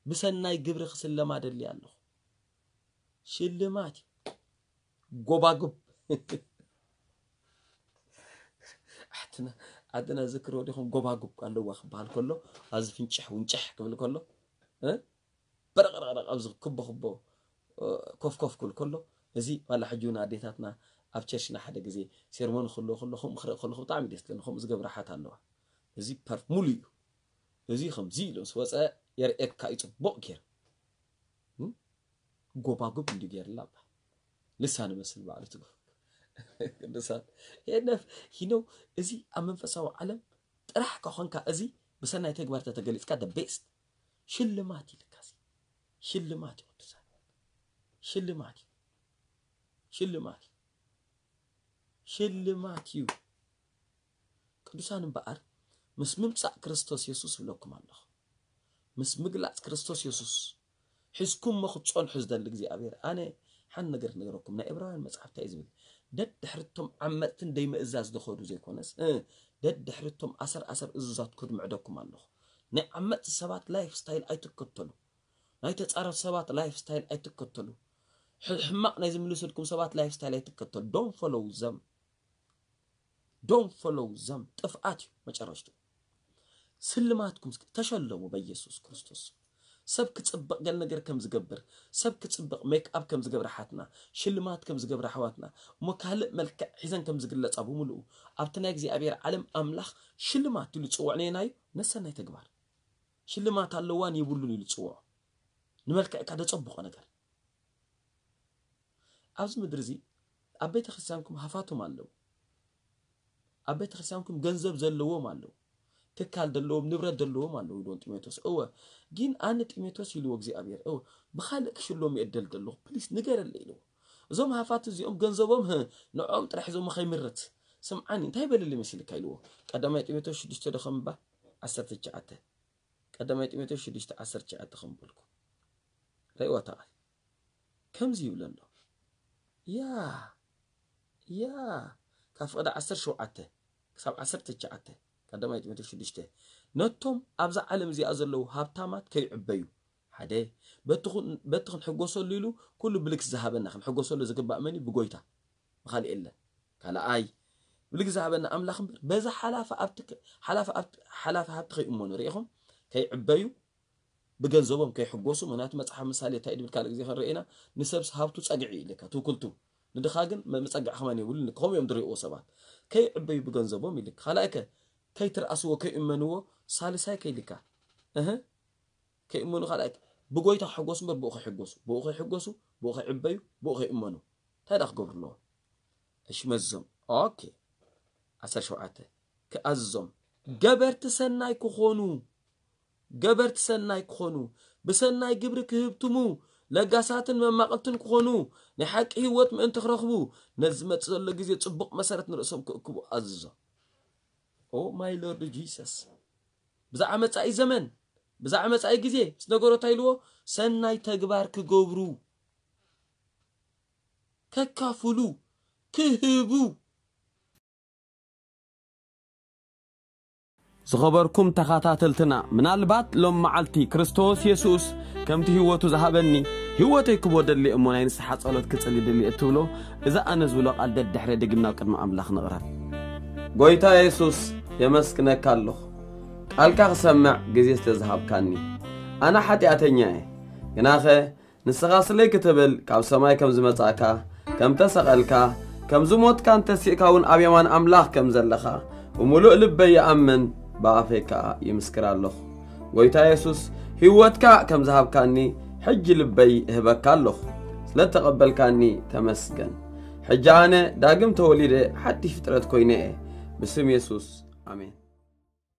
ብሰናይ ግብሪ ክስለማ ደሊ ኣለኹ። ሽልማት እዩ። ጎባጉብ ዓድና ዓድና ዝክሮ ዲኹም ጎባጉብ ኣለዋ ክበሃል ከሎ ኣዚ ፍንጭሕ ውንጭሕ ክብል ከሎ እ? በረቕረቕረቕ ኣብዚ ክቦ ክቦ እ፣ ኮፍ ኮፍ ክብል ከሎ እዚ ዋላ ሕጂ እውን ኣዴታትና ኣብ ቸርችና ሓደ ግዜ ሴርሞኒ ክህልዎ ከሎ ከምኡ ክርኢ ከለኹ ብጣዕሚ ደስ ትብለኒ። ከምኡ ዝገብራ ሓት ኣለዋ። እዚ ፐርፍ ሙሉ እዩ። እዚ ከምዚ ኢሉ ምስ ወፀ የርእየካ እዩ ፅቡቕ ገይሩ። እም? ጎባጉብ እንዲ ገይርላ እባ ልሳን መስል ባዕሉ ትጎ ቅዱሳን ሄነፍ ሂኖ እዚ ኣብ መንፈሳዊ ዓለም ጥራሕ ከኾንካ እዚ ብሰናይ ተግባር ተተገሊፅካ the best ሽልማት ይልካ እዚ ሽልማት እዩ ቅዱሳን ሽልማት እዩ ሽልማት እዩ ሽልማት እዩ ቅዱሳን እምበኣር ምስ ምምጻእ ክርስቶስ የሱስ እብለኩም ኣለኹ ምስ ምግላጽ ክርስቶስ የሱስ ሒዝኩሞ ክትጸንሑ ዝደሊ እግዚኣብሔር ኣነ ሓን ነገር ክነገረኩም ናይ ዕብራውያን መጽሓፍ እንታይ እዩ ዝብል ደድሕርቶም ዓመፅትን ደይምእዛዝ ዝኸዱ ዘይኮነስ እ፣ ደድሕርቶም ኣሰር ኣሰር እዙዛት ክድምዕደኩም ኣለኹ ናይ ዓመፅቲ ሰባት ላይፍ ስታይል ኣይትከተሉ ናይ ተፃረፍ ሰባት ላይፍ ስታይል ኣይትከተሉ ሕ- ሕማቕ ናይ ዝምልሰልኩም ሰባት ላይፍ ስታይል ኣይትከተሉ don't follow them don't follow them ጥፍኣት እዩ መጨረሽቱ ስልማትኩም እስኪ ተሸለሙ በኢየሱስ ክርስቶስ ሰብ ክፅብቕ ገል ነገር ከም ዝገብር ሰብ ክፅብቕ ሜክ ኣፕ ከም ዝገብር ሓትና ሽልማት ከም ዝገብር ኣሕዋትና እሞ ካልእ መልክዕ ሒዘን ከም ዝግለፃ ብምልኡ ኣብቲ ናይ እግዚኣብሔር ዓለም ኣምላኽ ሽልማት ኢሉ ዝፅውዕ ነየናዩ ነሰናይ ተግባር ሽልማት ኣለዋን የብሉን ኢሉ ዝፅውዖ ንመልክዕካ ደፀብቆ ነገር ኣብዚ ምድሪ እዚ ኣብ ቤተ ክርስቲያንኩም ሃፋቶም ኣለዉ ኣብ ቤተ ክርስቲያንኩም ገንዘብ ዘለዎም ኣለዉ ትካል ዘለዎም ንብረት ዘለዎም ኣለዉ ኢልዎም ጢሞቴዎስ እወ ግን ኣነ ጢሞቴዎስ ኢልዎ እግዚኣብሔር እወ ብካልእ ክሽሎም እየ እደልደለኹ ፕሊስ ንገረለ ኢልዎ እዞም ሃፋት እዚኦም ገንዘቦም ህ ንዕኦም ጥራሕ ሒዞሞ ከይምርት ስምዓኒ እንታይ በለለ መሲልካ ኢልዎ ቀዳማይ ጢሞቴዎስ ሽዱሽተ ዶ ከም እባ ዓሰርተ ትሽዓተ ቀዳማይ ጢሞቴዎስ ሽዱሽተ ዓሰርተ ትሽዓተ ከም በልኩ ርእይዎ ተቓል ከምዚ ይብሎ ኣሎ ያ ያ ካብ ፍቕዲ ዓሰርተ ሸውዓተ ክሳብ ዓሰርተ ትሽዓተ ቀዳማይ ጢሞቴዎስ ሽዱሽተ ነቶም ኣብዛ ዓለም እዚኣ ዘለዉ ሃብታማት ከይዕበዩ ሓደ በቲ ኩን- በቲ ክንሕጎሰሉ ኢሉ ኩሉ ብልግሲ ዝሃበና ክንሕጎሰሉ ዝግባእ መን እዩ? ብጎይታ ብካልእ የለን ካልኣይ ብልግሲ ዝሃበና ኣምላኽ እምበር በዚ ሓላፊ ኣብቲ ክ- ሓላፊ ኣብቲ- ሓላፊ ሃብቲ ከይእመኑ ርኢኹም ከይዕበዩ ብገንዘቦም ከይሕጎሱ ምክንያቱ መፅሓፍ ምሳሌ እንታይ ድብል ካልእ ግዜ ክንርኢና ንሰብስ ሃብቱ ፀግዒ ኢልካ ትውክልቱ ንድኻ ግን መ- መፀግዒ ከማን የብሉን ኢልካ ከምኡ እዮም ዝርእዎ ሰባት ከይዕበዩ ብገንዘቦም ኢልካ ካልኣይ ከ ከይትርኣስዎ ከይእመንዎ ሳልሳይ ከይልካ እህ ከይእመኑ ካልኣይ ብጎይታ ክሕጎሱ እምበር ብኡ ከይሕጎሱ ብኡ ከይሕጎሱ ብኡ ከይዕበዩ ብኡ ከይእመኑ እንታይ ዳ ክገብሩ ኣለዎም እሺ መዝዞም ኦኬ ዓሰርተ ሸውዓተ ክኣዝዞም ገበርቲ ሰናይ ክኾኑ ገበርቲ ሰናይ ክኾኑ ብሰናይ ግብሪ ክህብትሙ ለጋሳትን መማቕልትን ክኾኑ ናይ ሓቂ ህይወት ምእንቲ ክረኽቡ ነዚ ዝመጽእ ዘሎ ግዜ ጽቡቕ መሰረት ንርእሶም ክእክቡ ኣዝዞም ኦ ማይ ሎርድ ጂሰስ ብዛዕባ መጻኢ ዘመን ብዛዕባ መጻኢ ግዜ ምስ ነገሮ እንታይ ኢልዎ ሰናይ ተግባር ክገብሩ ከካፍሉ ክህቡ ዝኸበርኩም ተኻታተልትና ምናልባት ሎም መዓልቲ ክርስቶስ የሱስ ከምቲ ህይወቱ ዝሃበኒ ህይወተይ ክቦ ደሊ እሞ ናይ ንስሓ ጸሎት ክጽሊ ደሊ እትብሎ እዛ ኣነ ዝብሎ ቃል ደድሕረ ደጊምና ቅድሚ ኣምላኽ ንቕረብ ጎይታ የሱስ የመስግነካ ኣለኹ ቃልካ ክሰምዕ ግዜ ስለ ዝሃብካኒ ኣነ ሓጢኣተኛ እየ ግናኸ ንስኻ ስለይ ክትብል ካብ ሰማይ ከም ዝመጻእካ ከም ተሰቐልካ ከም ዝሞትካን ተሲእካ እውን ኣብ የማን ኣምላኽ ከም ዘለኻ ብምሉእ ልበይ ይኣምን ብኣፈይ ከኣ ይምስክር ኣለኹ ጎይታ የሱስ ህይወትካ ከም ዝሃብካኒ ሕጂ ልበይ እህበካ ኣለኹ ስለ እተቐበልካኒ ተመስገን ሕጂ ኣነ ዳግም ተወሊደ ሓድሽ ፍጥረት ኮይነ እየ ብስም የሱስ ኣሜን